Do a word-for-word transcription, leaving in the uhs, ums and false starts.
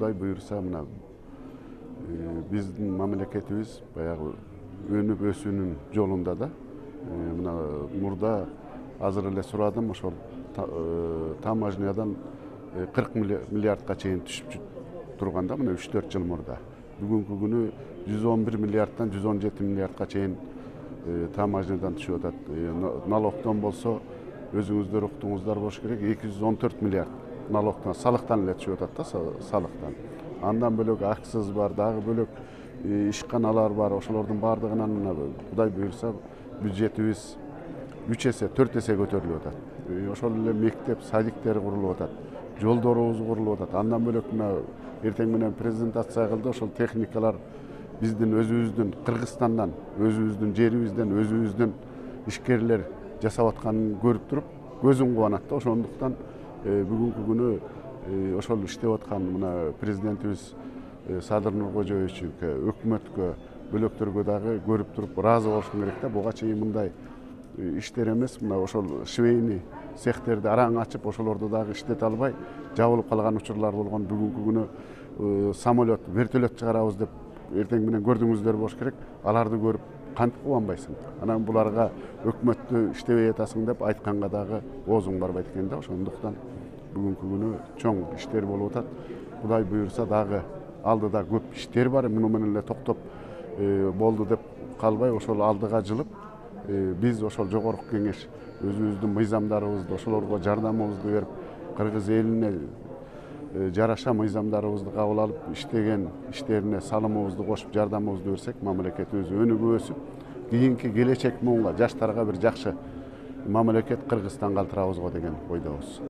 Кудай буюрса мына биздин мамлекетибиз баягы өнүп өсүүнүн жолунда да. Мына мурда азыр эле сурадым, ошол таможнядан кырк миллиардка чейин түшүп турганда мына үч төрт жыл мурда. Бүгүнкү күнү жүз он бир миллиарддан жүз он жети миллиардка чейин таможнядан түшүп атат. Налогдон болсо өзүңүздөр уктуңуздар болуш керек, эки жүз он төрт миллиард налогдон, салыктан эле түшүп атат да, салыктан. Андан бөлөк акциз бар, дагы бөлөк ишканалар бар. Ошолордун баардыгынан мына Кудай буюрса бюджетибиз үч эсе, төрт эсе көтөрүлүп атат. Ошол эле мектеп, садиктер курулуп атат, жолдорубуз курулуп атат. Андан бөлөк мына эртең менен презентация кылды, ошол техникалар биздин өзүбүздүн Кыргызстандан, өзүбүздүн жерибизден, өзүбүздүн ишкерлер жасап атканын көрүп туруп, көзүң кубанат да. Ошондуктан бүгүнкү күнү ошол иштеп аткан мына президентибиз Садыр Нуркожоевичке, өкмөткө, бөлөктөргө дагы көрүп туруп ыраазы болушуң керек да. Буга чейин мындай иштер эмес, мына ошол швейный цехтерди араң ачып, ошолорду дагы иштете албай жабылып калган учурлар болгон. Бүгүнкү күнү самолет, вертолет чыгарабыз деп эртең менен көрдүңүздөр болуш керек. Аларды көрүп кантип кубанбайсың? Анан буларга өкмөттү иштебей атасың деп айтканга дагы оозуң барбайт экен да. Ошондуктан бүгүнкү күнү чоң иштер болуп атат. Кудай буюрса дагы алдыда көп иштер бар. Муну менен эле токтоп болду деп калбай, ошол алдыга жылып, биз ошол жогорку кеңеш өзүбүздүн мыйзамдарыбызды, ошолорго жардамыбызды берип, кыргыз элине жараша мыйзамдарыбызды кабыл алып, иштеген иштерине салымыбызды кошуп, жардамыбызды берсек, мамлекетибиз өнүгүп өсүп, кийинки келечек муунга, жаштарга бир жакшы мамлекет Кыргызстан калтырабызго деген ойдобуз.